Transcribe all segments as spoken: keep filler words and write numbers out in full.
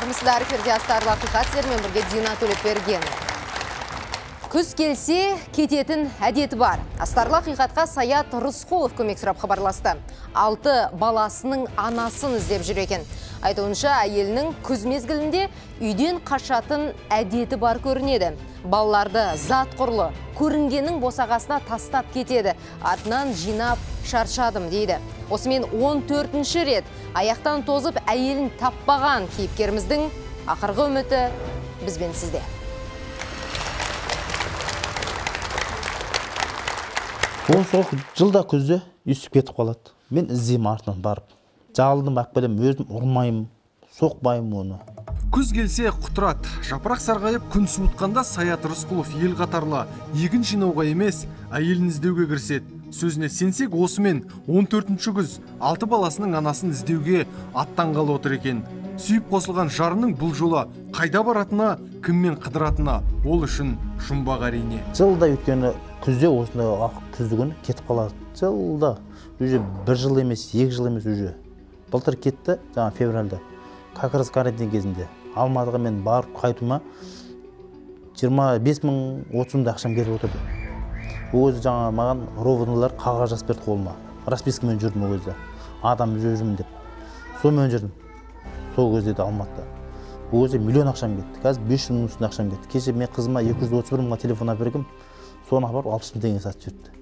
Армысыздар, эфирде астарлы ақиқат, сіздермен бірге Дина Төлепберген. Күз келсе, кететін әдеті бар. Астарлы ақиқатқа Саят Рысқұлов көмек сұрап хабарласты. Алты баласының анасын іздеп жүр екен. Айтуынша, әйелінің күз мезгілінде үйден қашатын әдеті бар көрінеді. Балаларды зат құрлы, көрінгеннің босағасына тастап кетеді. Артынан жинап шаршадым дейді. Осымен он төртінші рет аяқтан тозып әйелін таппаған кейіпкеріміздің ақырғы үміті бізбен сізде. Он сол жылда күзде үсіп кетіп қалады. Мен іздеймін артынан барып. Жалдым бақ білем, өзім ұрмайым, соқпайым оны. Күз келсе құтырат, жапырақ сарғайып күн суытқанда Саят Рысқұлов ел қатарлы егін жинауға емес, әйелін іздеуге кіріседі. Сөзіне сенсек, осымен он төртінші күз алты баласының анасын іздеуге аттанғалы отыр екен. Сүйіп қосылған жарының бұл жолы қайда баратына, кіммен қыдыратына ол үшін жұмбақ әрине. Жылда өткені күзде осындай күзді күні кетіп қалады. Жылда уже бір жыл емес, екі жыл емес уже. Былтыр кетті, жаңа февральда. Как раз карантин кезінде. Алматыға мен барып қайтуыма жиырма бес мың отыз мың ақшам кетіп отырды. Ол өзі жаңа маған ровнылар қағаз жазып берді қолыма. Распискамен жүрдім ол кезде. Адам жүрмін деп. Сонымен жүрдім. Сол кезде де Алматыда. Ол кезде миллион ақшам кетті. Қазір бес жүз мың үстінде ақшам кетті. Кеше мен қызыма екі жүз отыз бір мыңға телефон бергім. Соны апарып алпыс мың теңге сатып жіберді.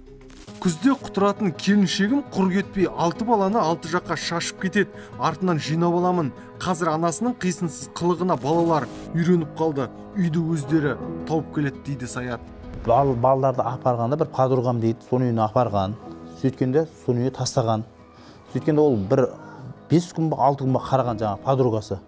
Күзде құтыратын келіншегім құр кетпей алты баланы алты жаққа шашып кетеді. Артынан жинап аламын. Қазір анасының қисынсыз қылығына балалар үйреніп қалды. Үйді өздері тауып келеді дейді Саят. Бал, балаларды апарғанда бір подругам дейді, соны үйіне апарған. Сөйткенде соны үйіне тастаған. Сөйткенде ол бір бес күн ба алты күн ба қараған жаңа подругасы.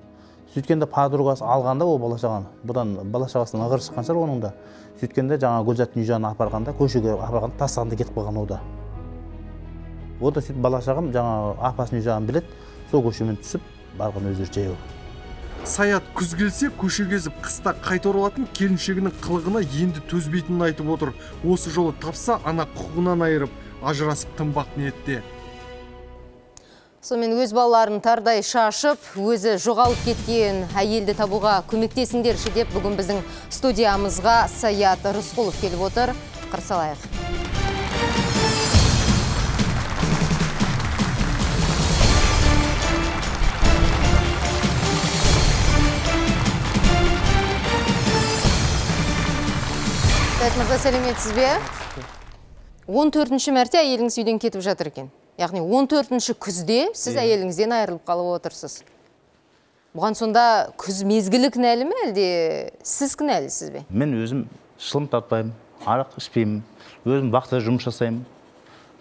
Сөйткенде подругасы алғанда ол бала-шағаны. Бұдан бала-шағасынан ығыр шыққан шығар оның да. Сөйткенде жаңа Гүлзаттың үй жағына апарғанда, көшеге апарғанда тастағанда кетіп қалған ода. Ода сөйтіп бала-шағам жаңа апасының үй жағын білет, сол көшемен түсіп барған өздері жаяу. Саят күз келсе көше кезіп қыста қайта оралатын келіншегінің қылығына енді төзбейтінін айтып отыр. Осы жолы тапса ана құқығынан айырып, ажырасып тынбақ ниетте. Сонымен өз балаларын тардай шашып, өзі жоғалып кеткен әйелді табуға көмектесіңдерші деп бүгін біздің студиямызға Саят Рысқұлов келіп отыр. Қарсалайық. Саят мырза, сәлеметсіз бе? он төртінші мәрте әйеліңіз үйден кетіп жатыр екен. Яғни он төртінші күзде сіз әйеліңізден айырылып қалып отырсыз. Бұған сонда күз мезгілі кінәлі ме, әлде сіз кінәлісіз бе? Мен өзім шылым тартпаймын, арақ ішпеймін, өзім вақытта жұмыс жасаймын.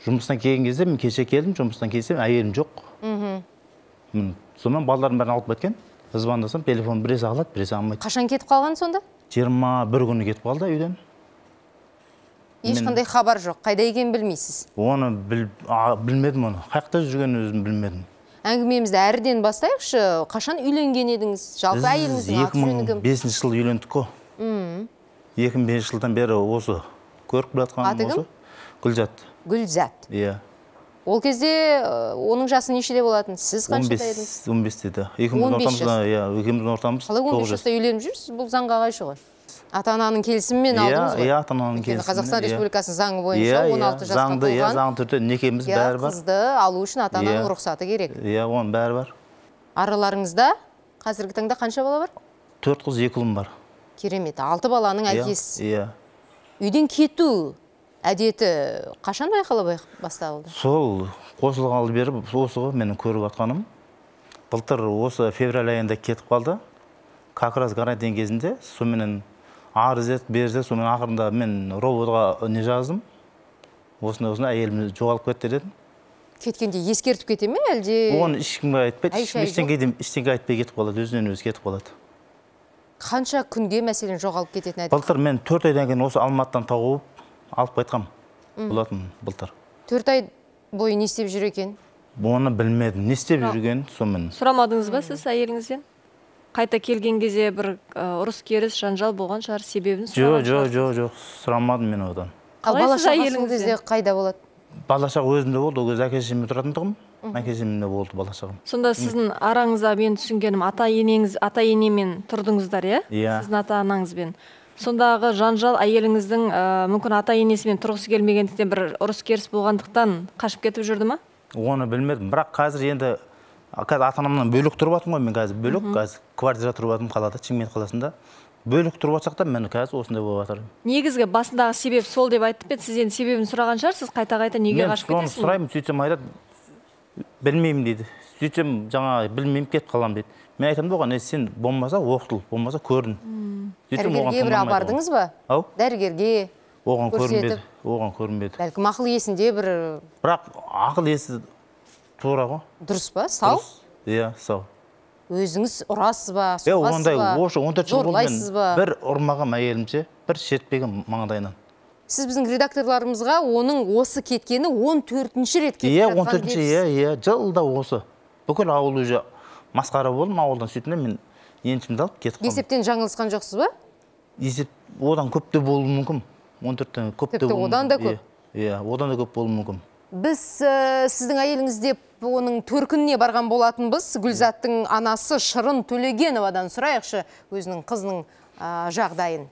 Жұмыстан келген кезде мен кеше келдім, жұмыстан келсем әйелім жоқ. Сонымен балаларым бәрін алып кеткен. Звондасам, телефон біресе алады, біресе алмайды. Қашан кетіп қалған сонда? жиырма бір күні кетіп қалды үйден. Ешқандай хабар жоқ, қайда екенін білмейсіз? Оны білмедім оны. Қайықта жүрген өзім білмедім. Әңгімемізді әріден бастайықшы, қашан үйленген едіңіз? Жалпы әйеліңіздің аты жөні кім? екі мың бесінші жылы үйлендік қой. екі мың бесінші жылдан бері осы көріп жатқаным осы. Гүлзат. Гүлзат. Иә. Ол кезде оның жасы нешеде болатын? Сіз қаншада едіңіз? он бесте. Екеуміздің ортамыз. Қалай он бес жаста үйленіп жүрсіз? Бұл заңға қайшы ғой? Ата-ананың келісімімен алдыңыз ғой? Иә, ата-ананың келісімімен. Қазақстан Республикасының заңы бойынша он алты жасқа толған. Иә, заңды түрде некеміз бәрі бар. Қызды алу үшін ата-ананың рұқсаты керек. Иә, оның бәрі бар. Араларыңызда қазіргі таңда қанша бала бар? Төрт қыз, екі ұлым бар. Керемет. Алты баланың әкесі. Иә. Үйден кету әдеті қашан байқала басталды? Сол қосылғалы бері осы ғой менің көріп жатқаным. Былтыр осы февраль айында кетіп қалды. Как раз карантин кезінде соменен арыз ет, берді, сонымен ақырында мен роботға не жаздым. Осында-осында әйелімді жоғалып кетті дедім. Кеткенде ескертіп кете ме, әлде? Оны ешкімге айтпайды, ештеңе айтпай кетіп қалады, өзінен өзі кетіп қалады. Қанша күнге мәселен жоғалып кететін әдет? Былтыр мен төрт айдан кейін осы Алматыдан тауып алып қайтқам болатын былтыр. төрт ай бойы не істеп жүр екен? Оны білмедім, не істеп жүрген сонымен. Сұрамадыңыз ба сіз әйеліңізден? Қайта келген кезде бір ұрыс керіс жанжал болған шығар, себебін сұраған шығар? Жоқ, жоқ, жоқ, сұрамадым мен одан. Ал бала-шағасының кезде қайда болады? Бала-шаға өзімде болды, ол кезде әке-шешеммен тұратын тұғым. Мәкежемде болды бала шағам. Сонда сіздің араңызда мен түсінгенім ата енеңіз, ата енемен тұрдыңыздар, иә? Иә. Сіздің ата анаңызбен. Сондағы жанжал әйеліңіздің мүмкін ата енесімен тұрғысы келмегендіктен бір ұрыс керіс болғандықтан қашып кетіп жүрді ма? Оны білмедім. Бірақ қазір енді қазір ата-анамнан бөлек тұрып жатырмын ғой, мен қазір бөлек, қазір квартира тұрып жатырмын қалада, Шымкент қаласында. Бөлік тұрып жатсақ та мен қазір осындай болып жатыр. Негізгі басындағы себеп сол деп айтып еді, сіз енді себебін сұраған шығарсыз, қайта-қайта неге қашып кетесіз? Мен соны сұраймын, сөйтсем айтады, білмеймін дейді. Сөйтсем жаңа білмеймін, кетіп қаламын дейді. Мен айтамын оған, сен болмаса оқытыл, болмаса көрін. Дәрігерге бір апардыңыз ба? Ау? Дәрігерге оған көрінбеді, оған көрінбеді. Бәлкім ақыл есінде бір... Бірақ ақыл есі тура ғой. Дұрыс па? Сау? Иә, сау. Өзіңіз ұрасыз ба, соғасыз ба, зорлайсыз ба? Бір ұрмаған әйелімше, бір шертпеген маңдайынан. Сіз біздің редакторларымызға оның осы кеткені он төртінші рет кетіп жатқан он төртінші, иә, иә, жылда осы. Бүкіл ауыл уже масқара болдым, ауылдан сөйтінде мен еншімді алып кетіп қалдым. Есептен жаңылысқан жоқсыз ба? Есеп одан көп те болуы мүмкін. он төрттен көп те болуы мүмкін. Тіпті одан да көп? Иә, одан да көп болуы мүмкін. Біз сіздің әйеліңіз деп оның төркініне барған болатынбыз. Гүлзаттың анасы Шырын Төлегеновадан сұрайықшы өзінің қызының жағдайын.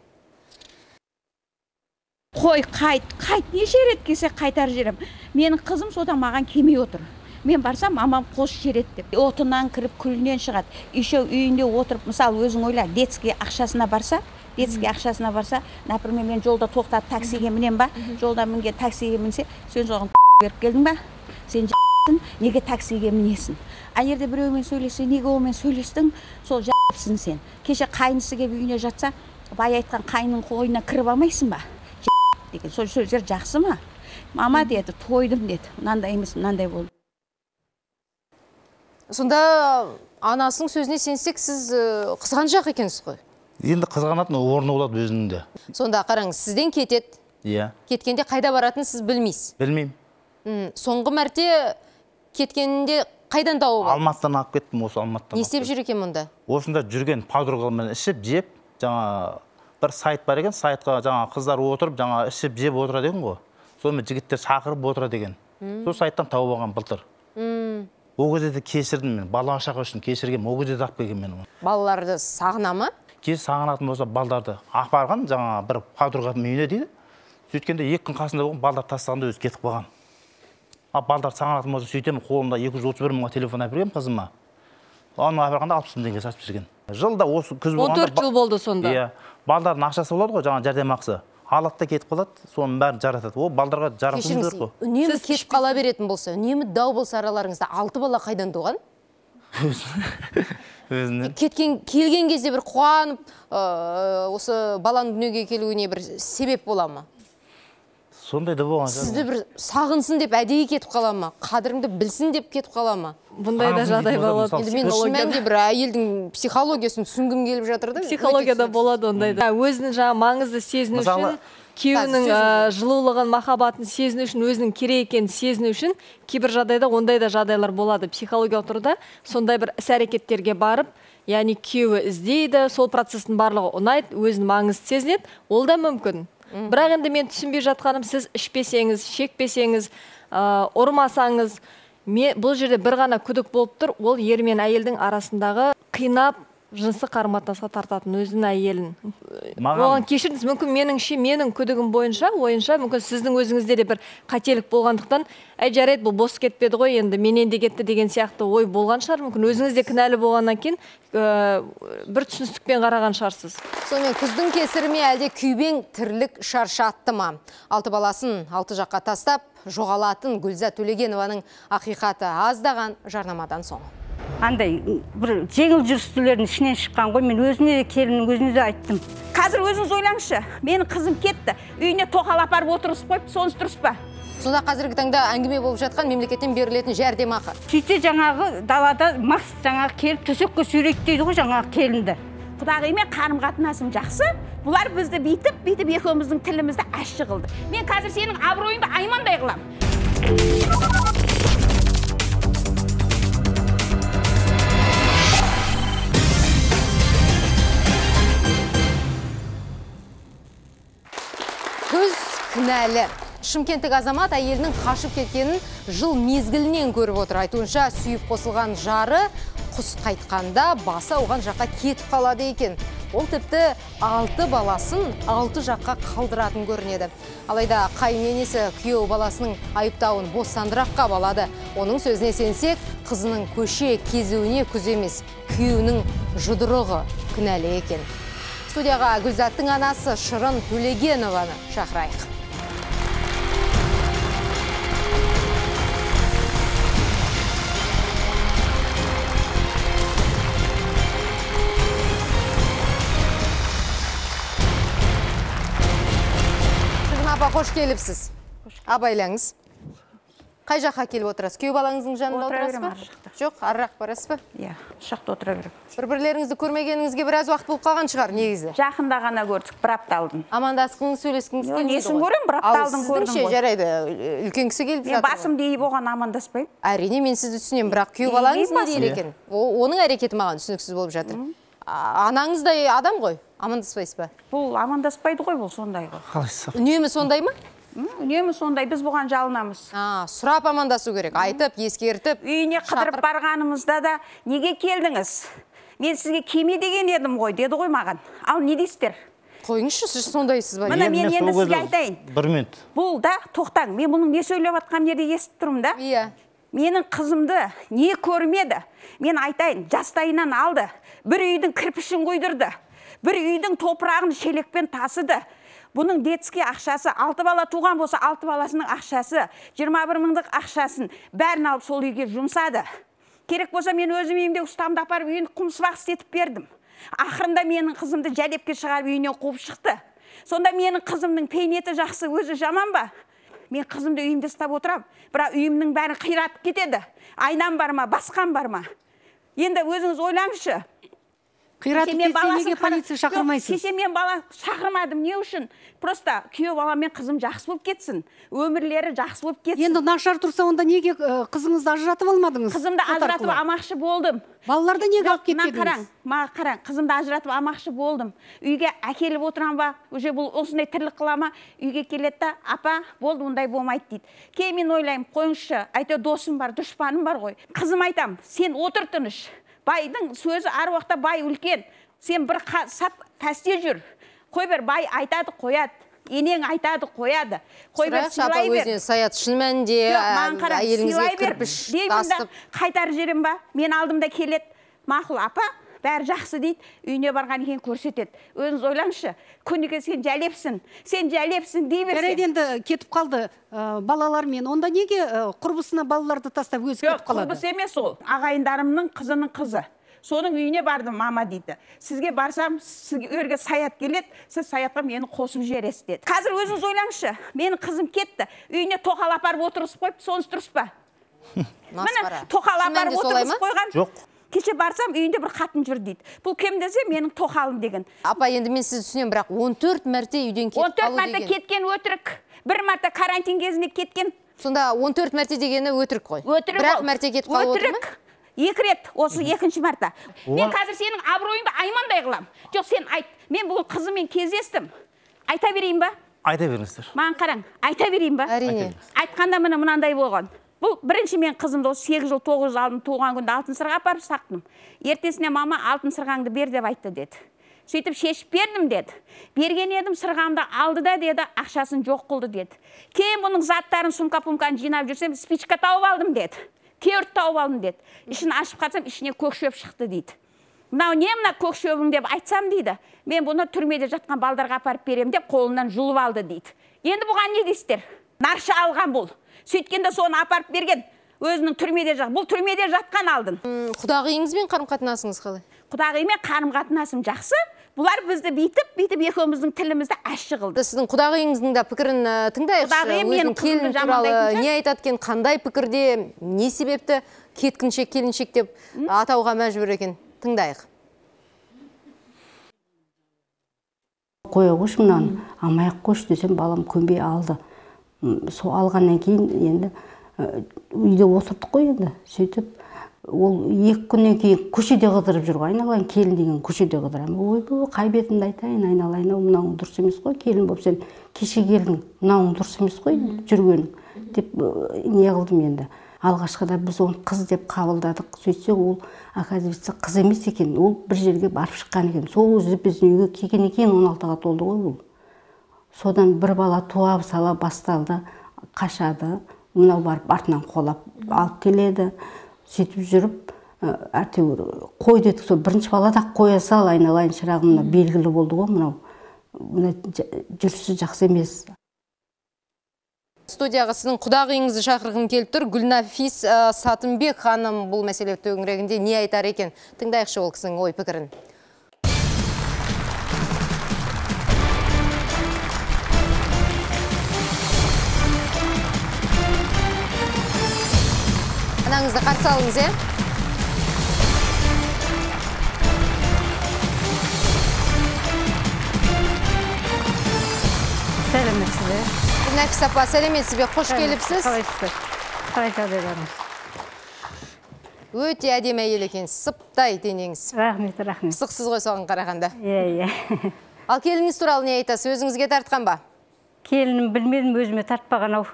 Қой, қайт, қайт, неше рет келсе қайтар жерім. Менің қызым содан маған келмей отыр. Мен барсам, мамам қос жерет деп. Отынан кіріп, күлінен шығады. Еще үйінде отырып, мысалы, өзің ойла, детский ақшасына барса, детский ақшасына барса, например, мен жолда тоқтап таксиге мінем ба, жолда мінген таксиге мінсе, сен соған беріп келдің ба, сен жа***сың, неге таксиге мінесің. Әнерде біреумен сөйлесе, неге олмен сөйлестің, сол жа***сың сен. Кеше қайнысы келіп үйіне жатса, бай айтқан қайның қойына кіріп алмайсың ба? Деген сол сөздер жақсы ма? Мама деді, тойдым деді, мынандай емес, мынандай болды. Сонда анасының сөзіне сенсек, сіз қызғаншақ екенсіз ғой? Енді қызғанатын орны болады өзінде. Сонда қараңыз, сізден кетеді. Иә. Кеткенде қайда баратын сіз білмейсіз? Білмеймін. Соңғы мәрте кеткенінде қайдан тауып? Алматыдан алып кеттім, осы Алматыдан. Не істеп жүр екен мұнда? Осында жүрген подругамен ішіп, жеп, жаңа бір сайт бар екен, сайтқа жаңа қыздар отырып, жаңа ішіп, жеп отырады екен ғой. Сонымен жігіттер шақырып отырады екен. Сол сайттан тауып алған былтыр. Ол кезде де кешірдім мен, бала шаға үшін кешіргем, ол кезде де алып келген мен. Балаларды сағына ма? Кеш сағынатын болса, балдарды апарған, жаңа бір подругамның үйіне дейді. Сөйткенде екі күн қасында болған, балдар тастағанда өзі кетіп қалған. А балдар сағынатын болса, сөйтемін, қолымда екі жүз отыз бір мыңға телефон әпергем қызыма. Оны апарғанда алпыс мың теңге сатып жүрген. Жылда осы күз болғанда... он төрт жыл болды сонда. Иә. Балдардың ақшасы болады ғой, жаңа жәрдемақысы. Алады да кетіп қалады, соның бәрін жаратады. Ол балдарға жаратуы керек қой. Үнемі кетіп қала беретін болса, үнемі дау болса араларыңызда алты бала қайдан туған? Өзінен. Кеткен, келген кезде бір қуанып, осы баланың дүниеге келуіне бір себеп бола ма? Сондай да болған. Сізді бір сағынсын деп әдейі кетіп қала ма? Қадіріңді білсін деп кетіп қала ма? Бұндай да жағдай болады. Енді мен шын мәнінде бір әйелдің психологиясын түсінгім келіп жатыр да. Психологияда болады ондай да. Өзінің жаңа маңызды сезіну үшін, күйеуінің жылулығын, махаббатын сезіну үшін, өзінің керек екенін сезіну үшін кейбір жағдайда ондай да жағдайлар болады. Психологиялық тұрғыда сондай бір іс-әрекеттерге барып, яғни күйеуі іздейді, сол процестің барлығы ұнайды, өзінің маңызды сезінеді, ол да мүмкін. Бірақ енді мен түсінбей жатқаным, сіз ішпесеңіз, шекпесеңіз, ұрмасаңыз, бұл жерде бір ғана күдік болып тұр, ол ер мен әйелдің арасындағы қинап, жынысы қарым-қатынасқа тартатын өзінің әйелін. Оған кешіріңіз, мүмкін меніңше, менің күдігім бойынша, ойынша, мүмкін сіздің өзіңізде де бір қателік болғандықтан, әй жарайды, бұл бос кетпеді ғой, енді менен де кетті деген сияқты ой болған шығар, мүмкін өзіңіз де кінәлі болғаннан кейін бір түсіністікпен қараған шығарсыз. Сонымен күздің кесірі ме әлде күйбең тірлік шаршатты ма? Алты баласын алты жаққа тастап, жоғалатын Гүлзат Төлегенованың ақиқаты аздаған жарнамадан соң. Андай бір жеңіл жүрістілердің ішінен шыққан ғой, мен өзіне де келіннің өзіне де айттым. Қазір өзіңіз ойлаңызшы, менің қызым кетті, үйіне тоқал апарып отырғызып қойып, сонысы дұрыс па? Сонда қазіргі таңда әңгіме болып жатқан мемлекеттен берілетін жәрдемақы. Сөйтсе жаңағы далада мас жаңағы келіп төсекке сүйрейді дейді ғой жаңағы келінді. Құдағимен қарым қатынасым жақсы, бұлар бізді бүйтіп, бүйтіп екеуміздің тілімізді ащы қылды. Мен қазір сенің абыройыңды аймандай қылам. Күз кінәлі. Шымкенттік азамат әйелінің қашып кеткенін жыл мезгілінен көріп отыр. Айтуынша сүйіп қосылған жары құс қайтқанда басы оған жаққа кетіп қалады екен. Ол тіпті алты баласын алты жаққа қалдыратын көрінеді. Алайда қайыненесі күйеу баласының айыптауын бостандыраққа балады. Оның сөзіне сенсек, қызының көше кезуіне күз емес, күйеуінің жұдырығы кінәлі екен. Студияға Гүлзаттың анасы Шырын Төлегенованы шақырайық. Апа, қош келіпсіз. Абайлаңыз. Қай жаққа келіп отырасыз? Күйеу балаңыздың жанында отырасыз ба? Жоқ, арырақ барасыз ба? Иә, шақта отыра берем. Бір-бірлеріңізді көрмегеніңізге біраз уақыт болып қалған шығар, негізі. Жақында ғана көрдік, бір апта алдым. Амандасқыңыз, сөйлескіңіз келмейді ғой. Несін көрем, бір апта алдым көрдім ғой. Ал сіздің жарайды, үлкен кісі келіп жатыр. Мен басым дейіп оған амандаспаймын. Әрине, мен сізді түсінемін, бірақ күйеу балаңыз не дейді екен? Оның әрекеті маған түсініксіз болып жатыр. Анаңыздай адам ғой, амандаспайсыз ба? Бұл амандаспайды ғой, бұл сондай ғой. Қалайсыз? Үнемі сондай ма? Үнемі сондай, біз бұған жалынамыз. Сұрап амандасу керек, айтып, ескертіп. Үйіне қыдырып барғанымызда да, неге келдіңіз? Мен сізге кеме деген едім ғой, деді ғой маған. Ал не дейсіздер? Қойыңызшы, сіз сондайсыз ба? Мына мен енді сізге айтайын. Бір минут. Бұл да, тоқтаң, мен бұның не сөйлеп атқан жерде естіп тұрмын да? Иә. Менің қызымды не көрмеді? Мен айтайын, жастайынан алды. Бір үйдің кірпішін қойдырды. Бір үйдің топырағын шелекпен тасыды. Бұның детский ақшасы, алты бала туған болса, алты баласының ақшасы, жиырма бір мыңдық ақшасын бәрін алып сол үйге жұмсады. Керек болса, мен өзім үйімде ұстамды апарып үйін құмсыбақ істетіп бердім. Ақырында менің қызымды жәлепке шығарып үйінен қуып шықты. Сонда менің қызымның пейнеті жақсы, өзі жаман ба? Мен қызымды үйімде ұстап отырам, бірақ үйімнің бәрін қиратып кетеді. Айнам бар ма, басқан бар ма? Енді өзіңіз ойлаңызшы. Қиратып кетсе неге полиция шақырмайсыз? Сесе мен бала шақырмадым, не үшін? Просто күйеу бала мен қызым жақсы болып кетсін. Өмірлері жақсы болып кетсін. Енді нашар тұрса, онда неге қызыңызды ажыратып алмадыңыз? Қызымды ажыратып амақшы болдым. Балаларды неге алып кетпедіңіз? Қараң, маған қараң, қызымды ажыратып амақшы болдым. Үйге әкеліп отырам ба? Уже бұл осындай тірлік қылама, үйге келеді да, апа, болды, ондай болмайды дейді. Кейін мен ойлаймын, қойыңызшы, әйтеуір досым бар, дұшпаным бар ғой. Қызым айтам, сен отыр тыныш. Байдың сөзі әр уақытта бай үлкен. Сен бір сап пәсте жүр. Қой бер, бай айтады, қояды. Енең айтады, қояды. Қой бер, сыйлай бер. Өзіне Саят шын мәнінде әйеліңізге кірпіш тастып. Қайтар жерім ба? Мен алдымда келеді. Мақұл, апа, бәрі жақсы дейді. Үйіне барған екен көрсетеді. Өзіңіз ойлаңызшы. Күніге сен жәлепсің. Сен жәлепсің дей берсең. Жарайды, енді кетіп қалды балалармен. Онда неге құрбысына балаларды тастап өзі кетіп қалады? Құрбысы емес ол. Ағайындарымның қызының қызы. Соның үйіне бардым, мама дейді. Сізге барсам, сізге Саят келеді, сіз Саятқа мені қосып жібересіз деді. Қазір өзіңіз ойлаңызшы, менің қызым кетті. Үйіне тоқал апарып отырғызып қойып, сонысы дұрыс па? Міне, тоқал апарып отырғызып қойған. Жоқ. Кеше барсам, үйінде бір қатын жүр дейді. Бұл кем десе, менің тоқалым деген. Апа, енді мен сізді түсінемін, бірақ он төрт мәрте үйден кетіп қалу деген. он төрт мәрте кеткен өтірік. Бір мәрте карантин кезінде кеткен. Сонда он төрт мәрте дегені өтірік қой. Өтірік. Бірақ мәрте кетіп қалу отыр ма? Екі рет, осы екінші мәрте. Мен қазір сенің абыройыңды аймандай қылам. Жоқ, сен айт. Мен бүгін қызыммен кездестім. Айта берейін ба? Айта беріңіздер. Маған қараң, айта берейін ба? Әрине. Айтқанда міне мынандай болған. Бұл бірінші мен қызымды сегіз жыл тоғыз жыл алдым туған күнде алтын сырға апарып сақтым. Ертесіне мама алтын сырғаңды бер деп айтты деді. Сөйтіп шешіп бердім деді. Берген едім, сырғамды алды да деді, ақшасын жоқ қылды деді. Кейін бұның заттарын, сумка-пумканы жинап жүрсем, спичка тауып алдым деді. Кеурт тауып алдым деді. Ішін ашып қатсам, ішіне көк шөп шықты дейді. Мынау не мына көк шөбің деп айтсам дейді. Мен бұны түрмеде жатқан балдарға апарып берем деп қолынан жұлып алды дейді. Енді бұған не дейсіздер? Нарша алған бұл. Сөйткенде соны апарып берген. Өзінің түрмеде жақ. Бұл түрмеде жатқан алдын. Құдағиыңызбен қарым-қатынасыңыз қалай? Құдағимен қарым-қатынасым жақсы. Бұлар бізді бейтіп, бейтіп екеуміздің тілімізді әші қылды. Сіздің құдағиыңыздың да пікірін тыңдайықшы. Өзінің келін туралы не айтады екен, қандай пікірде, не себепті кеткіншек, келіншек деп атауға мәжбүр екен? Тыңдайық. Қоя қош мұнан, амаяқ қош десем, балам көнбей алды. Сол алғаннан кейін енді үйде отырдық қой енді. Сөйтіп ол екі күннен кейін көшеде қыдырып жүр ғой, айналайын келін деген көшеде қыдырамын. Ойбай, қай бетімді айтайын, айналайын, мынауың дұрыс емес қой, келін болып сен кеше келдің, мынауың дұрыс емес қой жүргенің деп не қылдым енді. Алғашқыда біз оны қыз деп қабылдадық. Сөйтсе ол, оказывается, қыз емес екен. Ол бір жерге барып шыққан екен. Сол өзі біздің үйге келгеннен кейін он алтыға толды ғой ол. Содан бір бала туа сала басталды, қашады. Мынау барып артынан қолап алып келеді. Сөйтіп жүріп, әйтеуір қой дедік. Сол бірінші бала да қоя сал, айналайын шырағымна белгілі болды ғой мынау. Мына жүрісі жақсы емес. Студияға сіздің құдағыңызды шақырғым келіп тұр. Гүлнафис Сатымбек ханым бұл мәселе төңірегінде не айтар екен? Тыңдайықшы ол кісінің ой пікірін. Анаңызды қарсы алыңыз, е? Сәлеметсіз. Гүлнафис апа, сәлеметсіз бе, қош келіпсіз. Қалайсыз? Қалай жағдайларыңыз? Өте әдемі әйел екенсіз, сыптай денеңіз. Рахмет, рахмет. Пысықсыз ғой соған қарағанда. Иә, иә. Ал келініңіз туралы не айтасыз? Өзіңізге тартқан ба? Келінім білмедім, өзіме тартпаған ау.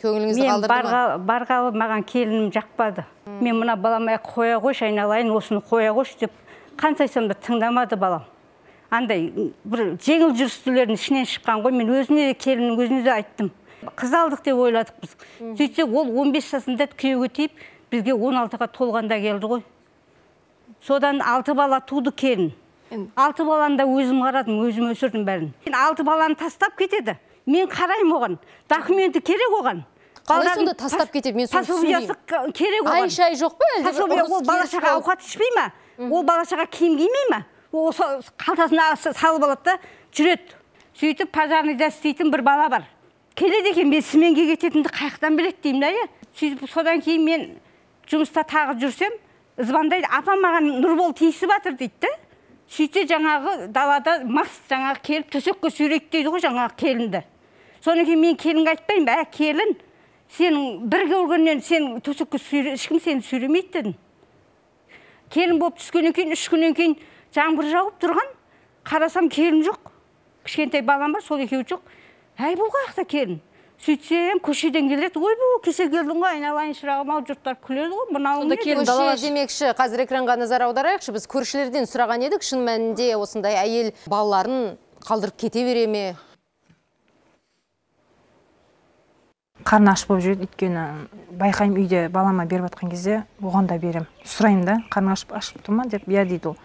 Көңіліңізді қалдырды ма? Мен барғалы маған келінім жақпады. Мен мына баламай қоя қойш, айналайын, осыны қоя қойш деп қансайсам да тыңдамады балам. Андай бір жеңіл жүрістілердің ішінен шыққан ғой, мен өзіне де келіннің өзіне де айттым. Қыз алдық деп ойладық біз. Сөйтсе ол он бес жасында күйеуге тиіп, бізге он алтыға толғанда келді ғой. Содан алты бала туды келін. Алты баланы да өзім қарадым, өзім өсірдім бәрін. Алты баланы тастап кетеді. Мен қараймын оған. Документі керек оған. Қалай сонда тастап кетеді, мен соны түсінбеймін. Керек оған. Ай-шай жоқ па? Ол балашаға ауқат ішпей ма? Ол балашаға киім кимей ма? Ол қалтасына салып алады да жүреді. Сөйтіп пожарныйда істейтін бір бала бар. Келеді екен, мен сменге кететінді қаяқтан біледі деймін да, е. Сөйтіп содан кейін мен жұмыста тағы жүрсем, звондайды, апам маған Нұрбол тиісіп жатыр дейді да. Сөйтсе жаңағы далада мас жаңағы келіп төсекке сүйрейді дейді ғой жаңағы келінді. Содан кейін мен келінге айтпаймын, ә келін, сенің бір көргеннен сен төсекке сүйре, ешкім сені сүйремейді дедім. Келін болып түскеннен кейін, үш күннен кейін жаңбыр жауып тұрған, қарасам келін жоқ. Кішкентай балам бар, сол екеуі жоқ. Әй, бұл қаяқта келін. Сөйтсем, көшеден келеді. Ой, бұл кеше келдің ғой, айналайын шырағым, ал жұрттар күледі ғой. Мынауың не? Көше демекші, қазір экранға назар аударайықшы. Біз көршілерден сұраған едік, шын мәнінде осындай әйел балаларын қалдырып кете бере ме? Қарны аш болып жүреді, өйткені байқаймын үйде балама беріп жатқан кезде оған да берем. Сұраймын да, қарны ашып тұр ма деп, я дейді ол.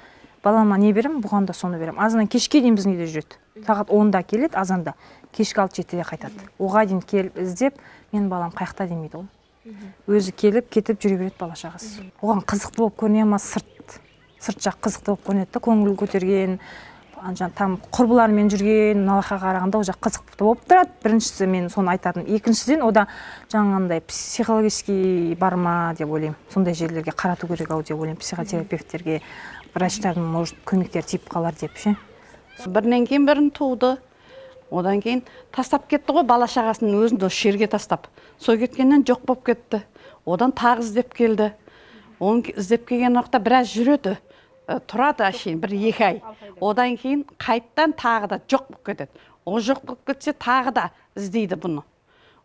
Балама не берем, бұған да соны берем. Азынан кешке дейін біздің үйде жүреді. Сағат онда келеді, азанда. Кешкі алты жетіде қайтады. Оға дейін келіп іздеп, мен балам қаяқта демейді ол. Өзі келіп, кетіп жүре береді бала шағасы. Оған қызықты болып көріне ма, сырт. Сырт жақ қызықты болып көрінеді, көңіл көтерген, там құрбыларымен жүрген, налақа қарағанда ол жақ қызықты болып тұрады. Біріншісі мен соны айтатын. Екіншіден, ода жаңағындай психологический бар ма деп ойлаймын. Сондай жерлерге қарату керек ау деп ойлаймын, психотерапевттерге, врачтардың, может, көмектер тиіп қалар деп ше. Бірінен кейін бірін туды. Одан кейін тастап кетті ғой, бала шағасының өзін осы жерге тастап. Сол кеткеннен жоқ болып кетті. Одан тағы іздеп келді. Оны іздеп келген уақытта біраз жүреді. Тұрады әшейін, бір екі ай. Одан кейін қайттан тағы да жоқ болып кетеді. Ол жоқ болып кетсе тағы да іздейді бұны.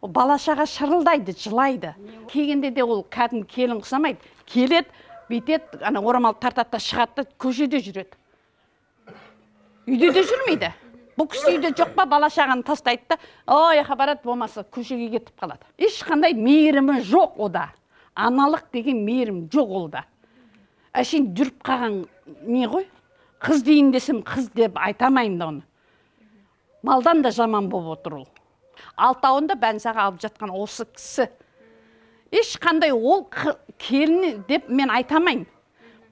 Ол бала шаға шырылдайды, жылайды. Келгенде де ол кәдімгі келін ұқсамайды. Келеді, бүйтеді, ана орамал тартады да шығады, көшеде жүреді. Үйде де жүрмейді. Бұл кісі үйде жоқ па, бала шағаны тастайды да, ой, барады, болмаса көшеге кетіп қалады. Ешқандай мейірімі жоқ ода. Аналық деген мейірім жоқ олда. Әшейін жүріп қалған не ғой? Қыз дейін десем, қыз деп айтамайын да оны. Малдан да жаман болып отыр ол. Алтауында бәнсаға алып жатқан осы кісі. Ешқандай ол келіні деп мен айтамайын.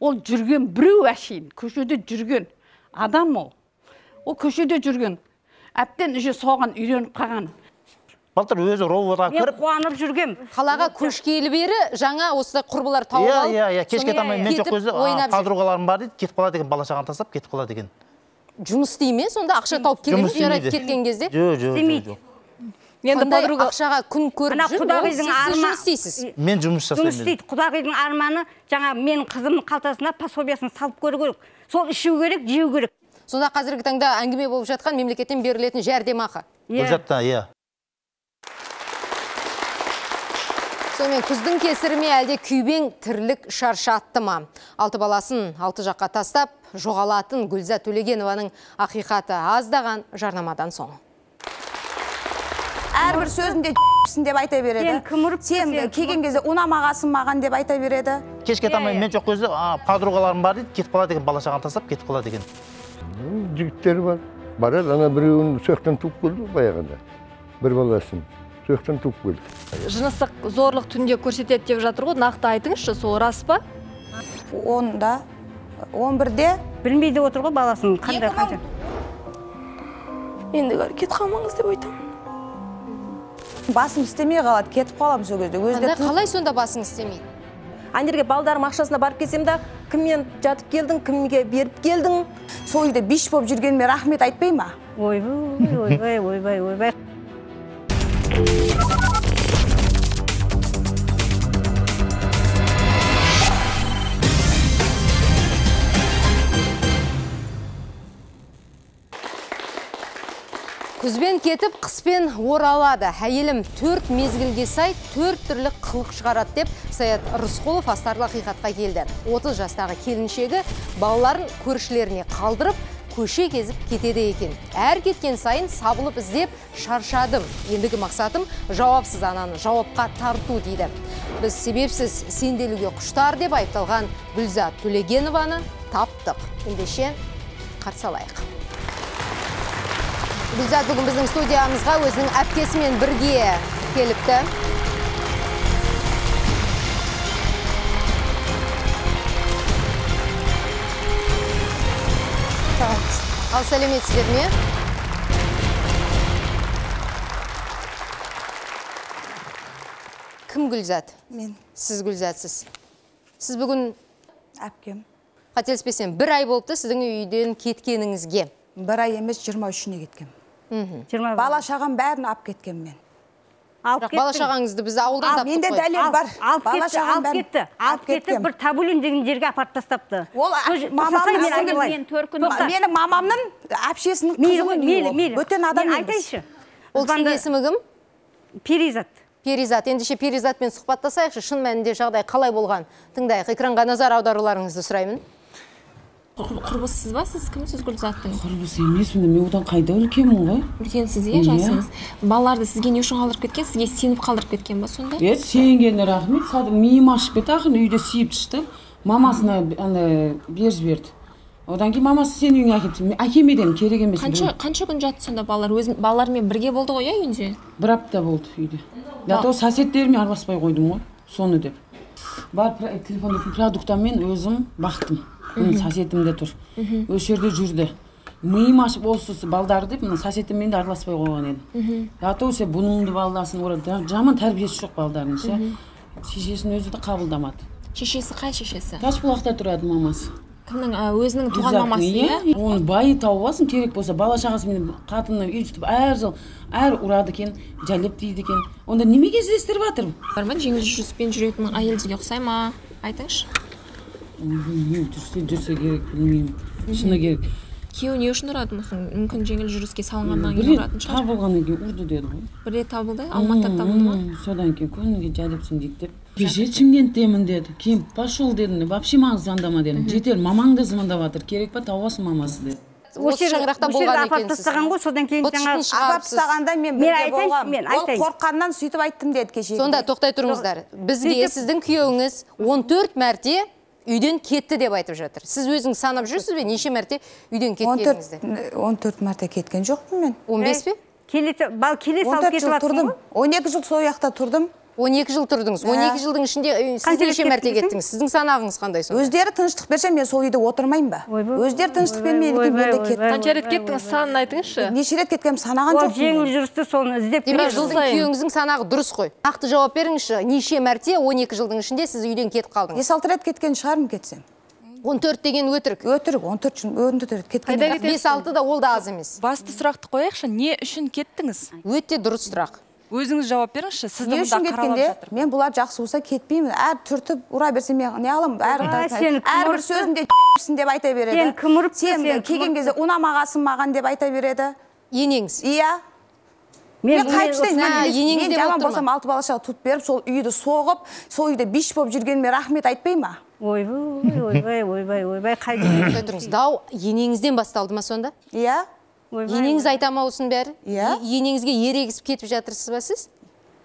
Ол жүрген біреу әшейін, көшеде жүрген адам ол. Ол көшеде жүрген. Әптен үже соған үйреніп қалған. Балтыр өзі роводға кіріп, мен қуанып жүргем. Қалаға көшкелі бері жаңа осылай құрбылар тауып алып. Иә, иә, кешке тамай мен жоқ өзі подругаларым бар дейді, кетіп қалады деген, бала шағаны тастап кетіп қалады деген. Жұмыс істей ме? Сонда ақша тауып келеді ме? Кеткен кезде? Жоқ, жоқ, жоқ. Қандай ақшаға күн көріп жүр, ол сіз жұмыс істейсіз? Мен жұмыс жасаймын. Жұмыс істейді. Құдағидың арманы жаңа менің қызымның қалтасына пособиясын салып көру керек. Сол ішу керек, жеу керек. Сонда қазіргі таңда әңгіме болып жатқан мемлекеттен берілетін жәрдемақы. Бұл жатта, иә. Сонымен күздің кесірі ме әлде күйбең тірлік шаршатты ма? Алты баласын алты жаққа тастап, жоғалатын Гүлзат Төлегенованың ақиқаты аздаған жарнамадан соң. Әрбір сөзінде сен деп айта береді. Сен келген кезде ұнамағасын маған деп айта береді. Кешке таман мен жоқ кезде подругаларым бар дейді, кетіп қалады екен, бала шағаны тастап кетіп қалады екен. Жігіттер бар. Барады, ана біреуін сөқтен туып келді баяғыда. Бір баласын сөқтен туып келді. Жыныстық зорлық түнде көрсетеді деп жатыр ғой, нақты айтыңызшы, сол рас па? Онда, он бірде білмейді отыр ғой баласын қандай қанша. Ендігер кет қалмаңыз деп айтам. Басым істемей қалады, кетіп қалам сол кезде. Анда қалай сонда басың істемейді? Андерге балдарым ақшасына барып келсем де, кіммен жатып келдің, кімге беріп келдің. Сол үйде биш болып жүргеніме рахмет айтпай ма? Ойбай, ойбай, ойбай, ойбай. Күзбен кетіп, қыспен оралады. Әйелім төрт мезгілге сай, төрт түрлі қылық шығарады деп Саят Рысқұлов астарлы ақиқатқа келді. отыз жастағы келіншегі балаларын көршілеріне қалдырып, көше кезіп кетеді екен. Әр кеткен сайын сабылып іздеп шаршадым. Ендігі мақсатым жауапсыз ананы жауапқа тарту дейді. Біз себепсіз сенделуге құштар деп айыпталған Гүлзат Төлегенованы таптық. Ендеше қарсы алайық. Гүлзат бүгін біздің студиямызға өзінің әпкесімен бірге келіпті. Ал сәлеметсіздер ме? Кім Гүлзат? Мен. Сіз Гүлзатсыз. Сіз бүгін әпкем. Қателеспесем, бір ай болыпты сіздің үйден кеткеніңізге. Бір ай емес, жиырма үшіне кеткем. Бала шағам бәрін ап кеткен мен. Бала шағаңызды біз ауылдан таптық қой. Менде дәлел бар. Алып кетті, алып кетті, бір табулин деген жерге апарып тастапты. Ол менің мамамның әпшесінің қызы ғой. Бөтен адам емес. Ол кісінің есімі кім? Перизат. Перизат. Ендеше Перизатпен сұхбаттасайықшы, шын мәнінде жағдай қалай болған? Тыңдайық, экранға назар аударуларыңызды сұраймын. Құрбысыз ба, сіз кімсіз Гүлзаттың? Құрбыс емес, мен одан қайда үлкенмін ғой. Үлкенсіз, е, жасыңыз. Балаларды сізге не үшін қалдырып кеткен, сізге сеніп қалдырып кеткен ба сонда? Е, сенгені рахмет, садым миым ашып кетті, ақын үйде сүйіп түсті. Мамасына беріп жіберді. Одан кейін мамасы сен үйіңе әкетті. Әкемеден керек емес. Қанша күн жатты сонда балалар? Балалармен бірге болды ғой, е, үйінде? Бір апта болды үйде. Дато соседтеріме араласпай қойдым ғой, соны деп. Бар телефонды продуктамен өзім бақтым. Оның соседімде тұр. Өз жерде жүрді. Миым ашып осы балдары деп, соседіммен де араласпай қойған едім. Дато се бұныңды балдасын орады. Жаман тәрбиесі жоқ балдарын ше. Шешесін өзі де қабылдамады. Шешесі қай шешесі? Ташбұлақта тұрады мамасы. Кімнің өзінің туған мамасы, е? Оны байы тауып алсын, керек болса, бала шағасымен қатынны үйретіп әр жыл әр ұрады екен, жәлеп дейді екен. Онда немеге іздестіріп жатыр? Бар ма, жеңіл жүріспен жүретін әйелдерге ұқсай ма? Айтыңызшы. Жүрсе жүрсе керек, білмеймін. Шыны керек. Күйеуі не үшін ұрады мұсың? Мүмкін жеңіл жүріске салынғаннан кейін ұратын шығар. Табылғаннан кейін ұрды деді ғой. Бір рет табылды? Алматыда табылды ма? Содан кейін көңілге жәлепсің дейді деп. Кеше Шымкенттемін деді. Кейін пошел дедім. Вообще маған звондама дедім. Жетер, мамаң да звондап жатыр. Керек па табасың мамасы деді. Осы шаңырақта болған екенсіз. Содан кейін жаңа апарып тастағанда мен бірге болғам. Ол қорққаннан сөйтіп айттым деді кеше. Сонда тоқтай тұрыңыздар. Бізге сіздің күйеуіңіз он төрт мәрте үйден кетті деп айтып жатыр. Сіз өзіңіз санап жүрсіз бе? Неше мәрте үйден кеткеніңізді? он төрт мәрте кеткен жоқпын мен. он бес пе? Бал келе салып кетіп жатырсың ғой? он екі жыл сол жақта тұрдым. он екі жыл тұрдыңыз. он екі жылдың ішінде сіз неше мәрте кеттіңіз? Сіздің санағыңыз қандай сонда? Өздері тыныштық берсе, мен сол үйде отырмайын ба? Өздері тыныштық бермейді, мен де кеттім. Қанша рет кеттіңіз, санын айтыңызшы? Неше рет кеткенім санаған жоқпын. Ол жеңіл жүрісті соны іздеп демек жылдың күйеуіңіздің санағы дұрыс қой. Нақты жауап беріңізші, неше мәрте он екі жылдың ішінде сіз үйден кетіп қалдыңыз? бес алты рет кеткен шығармын кетсем. он төрт деген өтірік. Өтірік, он төрт рет кеткен. бес алты да ол да аз емес. Басты сұрақты қояйықшы, не үшін кеттіңіз? Өте дұрыс сұрақ. Өзіңіз жауап беріңізші, сізді Не мұнда үшін қаралап кеткенде жатыр. мен бұлар жақсы болса кетпеймін. Әр түртіп ұра берсе мен не аламын? Әрбір сөзінде сен деп айта береді. Сен кім ұрыпты, Сен сен келген кезде ұнамағасың маған деп айта береді. Енеңіз. Иә. Мен қайтыштайын, мен жаман болсам алты балашаға тұтып беріп, сол үйді соғып, сол үйде биш болып жүргеніме рахмет айтпай ма? Ойбай, ойбай, ойбай, ойбай, қайда тұрыңыз. Дау енеңізден басталды ма сонда? Иә. Енеңіз айтамаусын бәрі? Иә. Енеңізге ерегісіп кетіп жатырсыз ба сіз?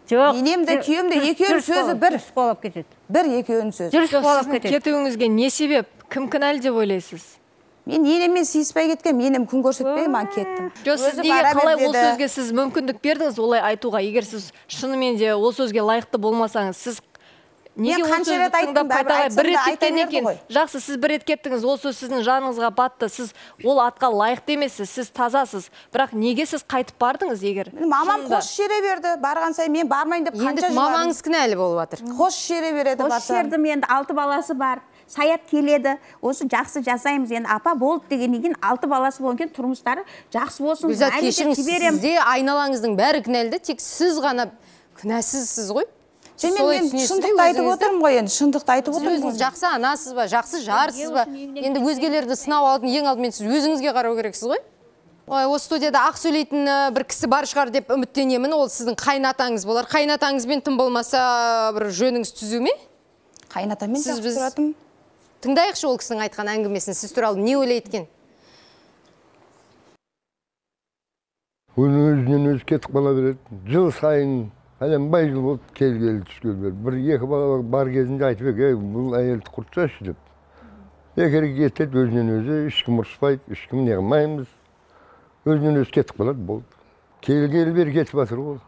Жоқ. Енемді, күйемді екеуінің сөзі бір. Жүріс болып кетеді. Бір екеуінің сөзі. Жүріс болып кетеді. Кетуіңізге не себеп? Кім кінәлі деп ойлайсыз? Мен енеммен сыйыспай кеткен, енем күн көрсетпей маған кеттім. Жоқ, сіз неге қалай ол сөзге сіз мүмкіндік бердіңіз олай айтуға? Егер сіз шынымен де ол сөзге лайықты болмасаңыз, сіз неге ол сөзді тыңдап қайталай бір рет кеткен екен? Жақсы, сіз бір рет кеттіңіз, ол сөз сіздің жаныңызға батты, сіз ол атқа лайықты емессіз, сіз тазасыз. Бірақ неге сіз қайтып бардыңыз егер? Мамам қош жере берді, барған сайын мен бармайын деп қанша жыладым. Мамаңыз кінәлі болып жатыр. Қош жере береді барса. Қош жердім, енді алты баласы бар. Саят келеді, осы жақсы жасаймыз, енді апа болды дегеннен кейін алты баласы болған тұрмыстары жақсы болсын. Гүлзат, кешіріңіз, сізде айналаңыздың бәрі кінәлі, тек сіз ғана күнәсізсіз ғой? Мен шындықты айтып отырмын ғой, енді шындықты айтып отырмын. Өзіңіз жақсы анасыз ба, жақсы жарсыз ба? Енді өзгелерді сынау алдын, ең алдымен сіз өзіңізге қарау керексіз ғой? Ой, осы студияда ақ сөйлейтін бір кісі бар шығар деп үміттенемін. Ол сіздің қайнатаңыз болар. Қайнатаңызбен тым болмаса бір жөніңіз түзу ме? Қайнатамен жақсы тұратым. Тыңдайықшы ол кісінің айтқан әңгімесін, сіз туралы не ойлайды екен? Оны өзінен өзі кетіп қала береді. Жыл сайын бай жыл болды келгелі түскелі. Бір екі бала бар кезінде айтып ек, бұл әйелді құртсашы деп. Екері кетеді өзінен өзі, ешкім ұрыспайды, ешкім не қылмаймыз. Өзінен өзі кетіп қалады, болды. Келгелі бері кетіп жатыр ол.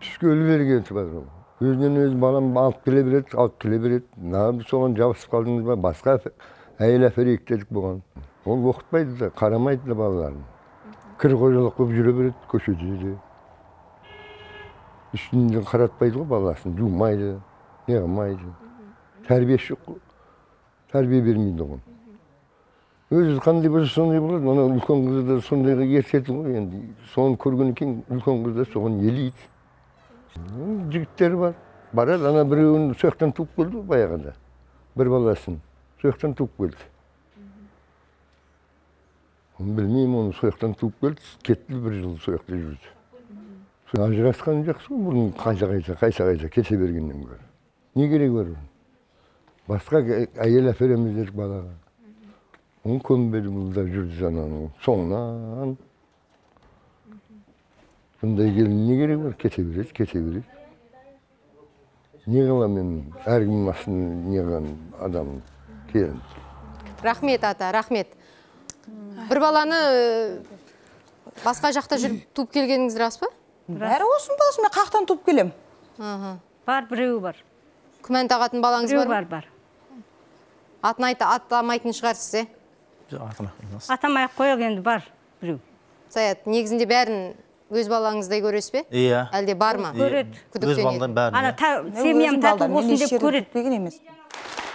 Түскелі бері кетіп жатыр ол. Өзінен өзі балам алып келе береді, алып келе береді. Нағып соған жабысып қалдыңыз ба, басқа әйел әперейік дедік болған. Ол оқытпайды да, қарамайды да балаларын. Кір қожалық болып жүре береді, көшеде де. Үстінен қаратпайды ғой баласын, жумайды, не қылмайды. Тәрбиесі жоқ қой. Тәрбие бермейді оған. Өзі қандай болса сондай болады, ана үлкен қызы да сондайға ертеді ғой, енді соны көргеннен кейін үлкен қыз да соған елейді. Жігіттер бар. Барады, ана біреуін сояқтан туып келді баяғыда. Бір баласын сояқтан туып келді. Оны білмеймін, оны сояқтан туып келді, кетті бір жыл сояқта жүрді. Ажырасқан жақсы ғой, бұрын қайса-қайса, қайса-қайса кете бергеннен көрі. Не керек бар? Басқа әйел әпереміз дедік балаға. Оны көнбеді бұлда жүрді жананың соңынан. Бұндай келін не керек бар? Кете береді, кете береді. Не қылам мен әркім асын не қылам адам келін. Рахмет ата, рахмет. Бір баланы басқа жақта жүріп туып келгеніңіз рас па? Бәрі осының баласы, мен қақтан туып келем. Бар, біреуі бар. Күмән тағатын балаңыз бар? Бар, бар. Атын атамайтын шығарсыз, е? Атамай-ақ қойық енді бар, біреу. Саят, негізінде бәрін өз балаңыздай көресіз бе? Иә. Әлде бар ма? Көреді. Өз балаңдан бәрін. Ана семьям тату болсын деп көреді.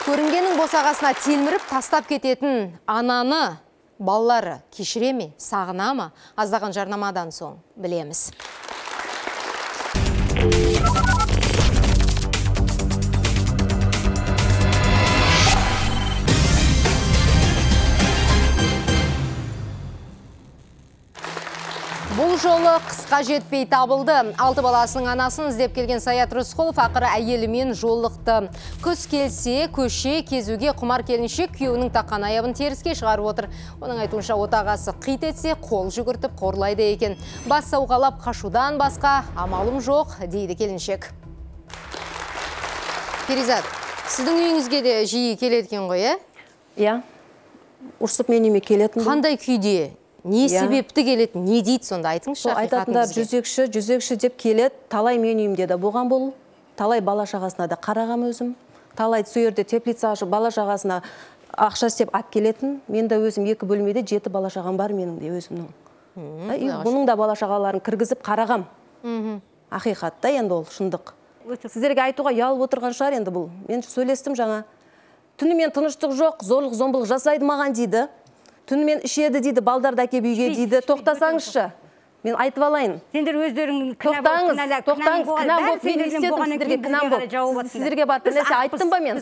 Көрінгенің босағасына телміріп тастап кететін ананы балалары кешіре ме, сағына ма? Аздаған жарнамадан соң білеміз. Бұл жолы қысқа жетпей табылды. Алты баласының анасын іздеп келген Саят Рысқұлов ақыры әйелімен жолықты. Күз келсе, көше кезуге құмар келіншек күйеуінің таққан аяғын теріске шығарып отыр. Оның айтуынша отағасы қит етсе, қол жүгіртіп қорлайды екен. Бас сауғалап қашудан басқа амалым жоқ, дейді келіншек. Перизат, сіздің үйіңізге де жиі келеді екен ғой, е? Иә. Ұрсып мен үйіме келетін. Қандай күйде? Не себепті келеді, не дейді сонда айтыңызшы? Айтатындар жүзекші, жүзекші деп келеді, талай мен үйімде де болған бұл, талай бала шағасына да қарағам өзім, талай сөйерде теплица ашып бала шағасына ақша істеп ап келетін, мен де өзім екі бөлмеде жеті бала шағам бар менің де өзімнің. Бұның да бала шағаларын кіргізіп қарағам. Ақиқатта енді ол шындық. Сіздерге айтуға ұялып отырған шығар енді бұл. Мен сөйлестім жаңа. Түнімен тыныштық жоқ, зорлық зомбылық жасайды маған дейді. Түнімен ішеді дейді, балдарды әкеп үйге дейді. Тоқтасаңызшы. Мен айтып алайын. Сендер өздерің тоқтаңыз, тоқтаңыз, кінәм болып мен істедім сіздерге, кінәм болып. Сіздерге бар бір нәрсе айттым ба мен?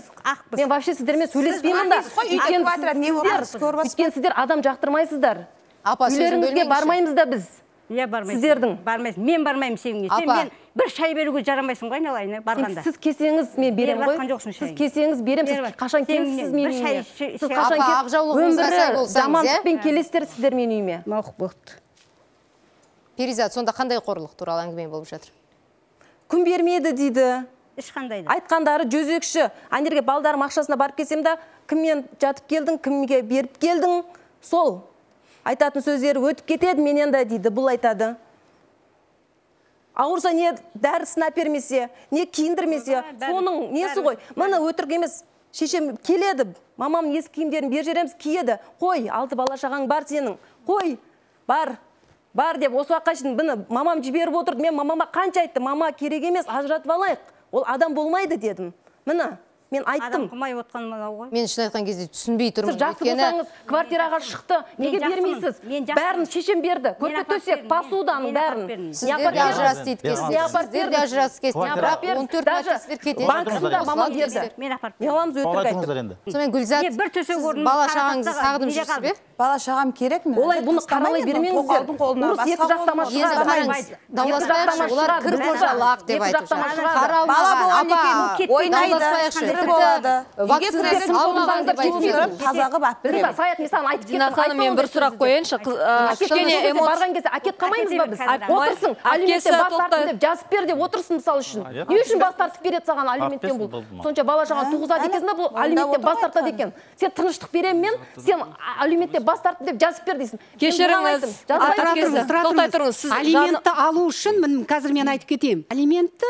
Мен вообще сіздермен сөйлеспеймін да. Өйткені сіздер адам жақтырмайсыздар. Үйлеріңізге бармаймыз да біз. Иә, бармайсың. Сіздердің. Бармайсың. Мен бармаймын сеніңе. Сен мен бір шай беруге жарамайсың ғой, айналайын, барғанда. Сіз кесеңіз мен берем ғой. Сіз кесеңіз берем. Сіз қашан келесіз менің үйіме? Сіз қашан келесіз? Өмірі жамандықпен келесіздер сіздер менің үйіме. Мақұл. Перизат, сонда қандай қорлық туралы әңгіме болып жатыр? Күн бермеді дейді. Ешқандай. Айтқандары жөзекші. Анерге балдарым ақшасына барып келсем да, кіммен жатып келдің, кімге беріп келдің, сол. Айтатын сөздері өтіп кетеді менен да дейді, бұл айтады. Ауырса не дәрісін әпермесе, не киіндірмесе, соның несі ғой. Мына өтірік емес, шешем келеді, мамам ескі киімдерін бер жереміз киеді. Қой, алты бала шағаң бар сенің. Қой, бар. Бар деп, осы уақытқа шейін бұны мамам жіберіп отырды. Мен мамама қанша айтты, мама керек емес, ажыратып алайық. Ол адам болмайды дедім. Мына, мен айттым. Адам қылмай отқан мынау ғой. Мен шын айтқан кезде түсінбей тұрмын. Сіз жақсы болсаңыз, квартираға шықты. Неге бермейсіз? Бәрін шешем берді. Көрпе төсек, посуданың бәрін. Сіздер де ажырасып кеткенсіз. Сіздер де ажырасып кеткенсіз. Бірақ он төрт марта сіздер кетеді. Банксында мамам берді. Мен апарып бердім. Мамамыз өтірік айтты. Сонымен Гүлзат, сіз бала шағаңызды сағынып жүрсіз бе? Бала шағам керек ме? Олай бұны қаралай бермеңіздер. Ұрыс екі жақтама шығады. Дауласпайықшы, олар кір қожалақ деп айтып жатыр. Қаралмаған, апа, ойнайды, вакцина салмаған деп айтып жатыр. Тазағы бап берем. Саят, мен саған айтып Дина ханым, мен бір сұрақ қояйыншы. Кішкене барған кезде әкет қалмаймыз ба біз? Отырсын, алименттен бас тартып деп жазып бер деп отырсын мысал үшін. Не үшін бас тартып береді саған алименттен бұл? Сонша бала шағаң туғызады екенсің, бұл алименттен бас тартады екен. Сен тыныштық берем мен, сен алименттен бас тартып деп жазып бер дейсің. Кешіріңіз, тоқтай тұрыңыз. Алиментті алу үшін, қазір мен айтып кетейін. Алиментті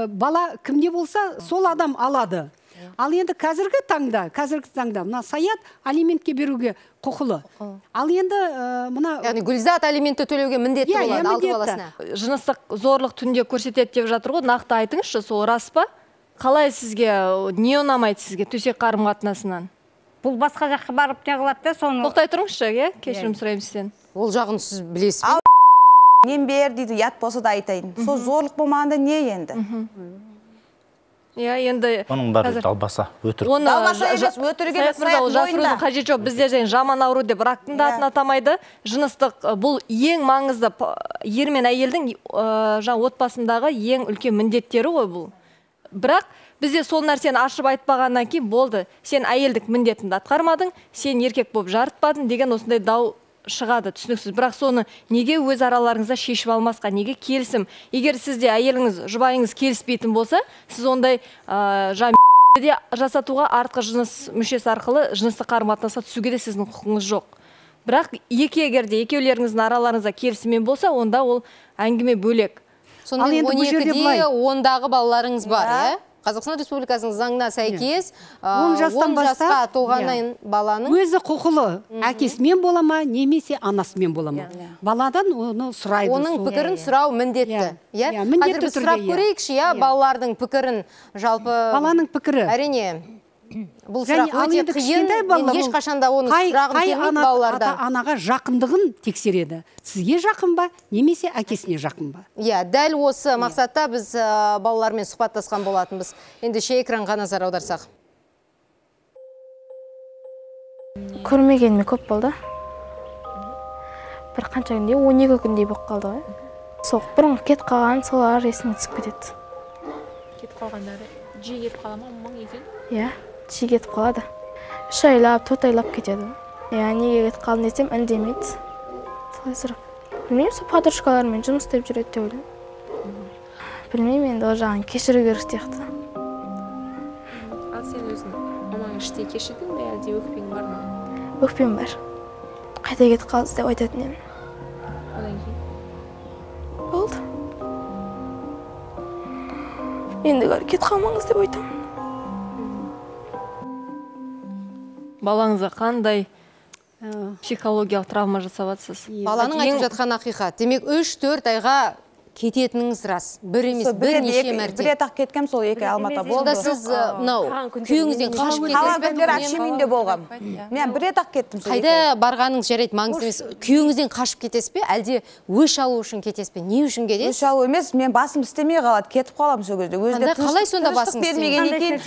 бала кімде болса, сол адам алады. Ал енді қазіргі таңда, қазіргі таңда, мына Саят алиментке беруге құқылы. Ал енді мына... Яғни Гүлзат алиментті төлеуге міндетті болады, алты баласына. Жыныстық зорлық түнде көрсетеді деп жатыр ғой, нақты айтыңызшы, сол рас па? Қалай сізге, не ұнамайды сізге төсек қарым қатынасынан? Бұл басқа жаққа барып не қылады да, соны... Тоқтай тұрыңызшы, кешірім сұраймын сізден. Ол жағын сіз білесіз бе? Нем бер дейді, ят болса да айтайын. Сол зорлық болмағанда не енді? Иә, енді... Оның бәрі далбаса, өтірік. Далбаса емес, өтіріге жасырудың қажет жоқ. Бізде және жаман ауру деп рактың да атын атамайды. Жыныстық бұл ең маңызды, ер мен әйелдің отбасындағы ең үлкен міндеттері ғой бұл. Бірақ бізде сол нәрсені ашып айтпағаннан кейін болды. Сен әйелдік міндетіңді атқармадың, сен еркек болып жарытпадың деген осындай дау шығады, түсініксіз. Бірақ соны неге өз араларыңызда шешіп алмасқа, неге келісім? Егер сізде әйеліңіз, жұбайыңыз келіспейтін болса, сіз ондай де жасатуға артқы жыныс мүшесі арқылы жыныстық қарым-қатынасқа түсуге де сіздің құқыңыз жоқ. Бірақ екі егерде екеулеріңіздің араларыңызда келісіммен болса, онда ол әңгіме бөлек. Сонымен он екіде ондағы балаларыңыз бар, иә? Қазақстан Республикасының заңына сәйкес он жасқа толғаннан баланың өзі құқылы, әкесімен бола ма, немесе анасымен бола ма. Баладан оны сұрайды. Оның пікірін сұрау міндетті. Қазір біз сұрап көрейікші, балалардың пікірін, жалпы... Баланың пікірі. Әрине, бұл сұрақ өте қиын, мен ешқашанда оны сұрағым келмейді балалардан. Анаға жақындығын тексереді. Сізге жақын ба, немесе әкесіне жақын ба? Иә, дәл осы мақсатта біз балалармен сұхбаттасқан болатынбыз. Енді ше экранға назар аударсақ. Көрмегеніме көп болды. Бір қанша күнде, он екі күндей болып қалды ғой. Сол бұрын кет қалған, солар есіме түсіп кетеді. Кет қалғандары жиі кетіп қала ма, мұң екен? Иә, жиі кетіп қалады. Үш айлап, төрт айлап кетеді. Иә, неге кетіп қалдың десем, үндемейді. Солай сұрақ. Білмеймін, сол подружкалармен жұмыс істеп жүреді деп ойлаймын. Білмеймін, енді ол жағын кешіру керек сияқты. Ал сен өзің мамаң іштей кешірдің бе, әлде өкпең бар ма? Өкпем бар. Қайта кетіп қалды деп айтатын едім. Одан кейін? Болды. Енді кетіп қалмаңыз деп айтамын. Балаңызға қандай психологиялық травма жасап жатсыз? Баланың айтып жатқан ақиқат. Демек, үш төрт айға кететініңіз рас. Бір емес, бірнеше мәрте. Бір рет-ақ кеткем, сол екі Алматыда болды. Сонда сіз мынау күйеуіңізден қашып кетесіз бе? Қалған күндер әпшем үйінде болғам. Мен бір рет-ақ кеттім. Қайда барғаныңыз жарайды, маңызды емес. Күйеуіңізден қашып кетесіз бе, әлде өш алу үшін кетесіз бе? Не үшін кетесіз? Өш алу емес, мен басым істемей қалады, кетіп қаламын сол кезде. Қандай қалай сонда басым істемей?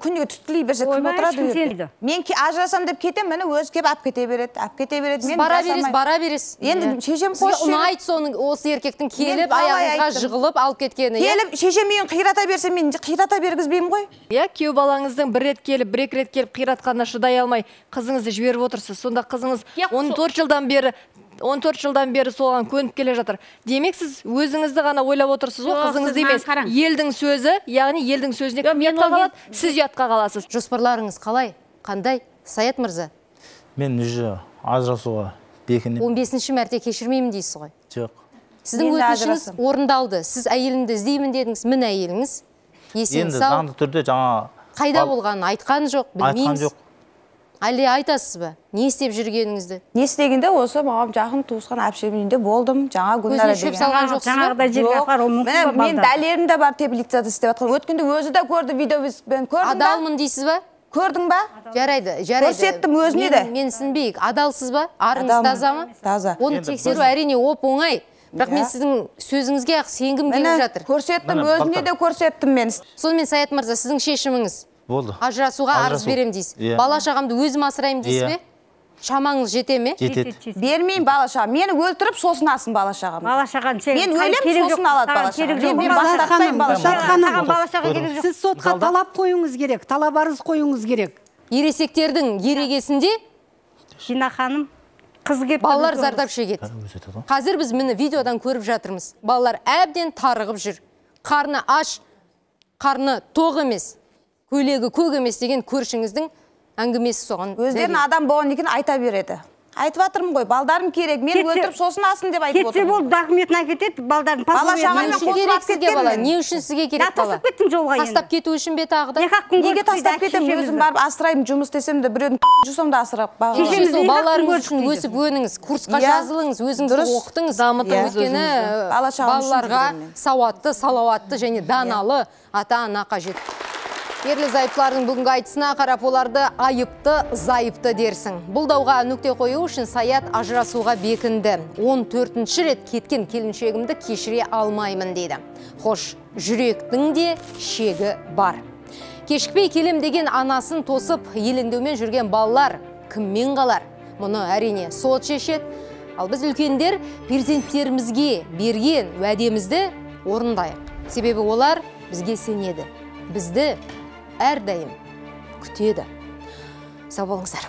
Күнге түтілей берсе кім отырады? Мен ажырасам деп кетем, мені өзі кеп ап кете береді, ап кете береді. Бара бересіз, бара бересіз. Енді шешем қойшы. Сізге ұнайды соның осы еркектің келіп, аяғыңызға жығылып алып кеткені. Келіп, шешем үйін қирата берсе, мен қирата бергізбеймін ғой. Иә, күйеу балаңыздың бір рет келіп, бір екі рет келіп қиратқанына шыдай алмай, қызыңызды жіберіп отырсыз. Сонда қызыңыз он төрт жылдан бері он төрт жылдан бері соған көніп келе жатыр. Демек сіз өзіңізді ғана ойлап отырсыз ғой, қызыңызды емес. Елдің сөзі, яғни елдің сөзіне кім ұятқа қалады, сіз ұятқа қаласыз. Жоспарларыңыз қалай? Қандай? Саят мырза? Мен уже ажырасуға бекінем. он бесінші мәрте кешірмеймін дейсіз ғой? Жоқ. Сіздің өтінішіңіз орындалды. Сіз әйелімді іздеймін дедіңіз, мін әйеліңіз. Есен Енді сау. заңды түрде жаңа Қайда болғанын айтқан жоқ, білмейміз. Айтқан жоқ. Әлде айтасыз ба? Не істеп жүргеніңізді? Не істегенде осы маған жақын туысқан әпшем үйінде болдым. Жаңа Гүлнара деген. Көзіне шөп салған жоқсыз ба? Жаңағыдай жерге апар, ол мүмкін ба? Мен дәлелім де бар, теплицада істеп жатқан. Өткенде өзі де көрді, видеомен көрдім ба? Адалмын дейсіз ба? Көрдің ба? Жарайды, жарайды. Көрсеттім өзіне де. Мен сінбейік. Адалсыз ба? Арыңыз таза ма? Таза. Оны тексеру әрине оп оңай. Бірақ мен сіздің сөзіңізге ақ сенгім келіп жатыр. Көрсеттім, өзіне де көрсеттім мен. Сонымен Саят мырза, сіздің шешіміңіз? Болды. Ажырасуға арыз берем дейсіз. Бала шағамды өзім асырайым дейсіз бе? Шамаңыз жете ме? Жетеді. Бермеймін бала шағам. Мені өлтіріп сосын асын бала шағам. Бала шағам сен. Мен өлем сосын алады бала шағам. Мен бастатпаймын бала шағам. Сіз сотқа талап қойыңыз керек, талап арыз қойыңыз керек. Ересектердің ерегесінде Жина ханым, қыз кеп балалар зардап шегеді. Қазір біз мені видеодан көріп жатырмыз. Балалар әбден тарығып жүр. Қарны аш, қарны тоқ емес, көйлегі көк емес деген көршіңіздің әңгімесі соған. Өздерін адам болған екен айта береді. Айтып жатырмын ғой, балдарым керек, мен өлтіріп сосын асын деп айтып отырмын. Кетсе болды, документін әкетеді, балдарын бала шағамен қосылып кеткен. Не үшін сізге керек бала? Тастап кеттім жолға енді. Тастап кету үшін бе тағы да? Неге тастап кетем? Өзім барып асыраймын, жұмыс істесем де біреудің жусам да асырап бағалаймын. Балаларыңыз үшін өсіп өніңіз, курсқа жазылыңыз, өзіңізді оқытыңыз, дамытыңыз. Өйткені балаларға сауатты, салауатты және даналы ата-ана қажет. Ерлі зайыптылардың бүгінгі айтысына қарап оларды айыпты, зайыпты дерсің. Бұл дауға нүкте қою үшін Саят ажырасуға бекінді. он төртінші рет кеткен келіншегімді кешіре алмаймын дейді. Хош, жүректің де шегі бар. Кешікпей келем деген анасын тосып, елеңдеумен жүрген балалар кіммен қалар? Мұны әрине сот шешеді. Ал біз үлкендер перзенттерімізге берген уәдемізді орындайық. Себебі олар бізге сенеді. Бізді әрдайым күтеді. Сау болыңыздар.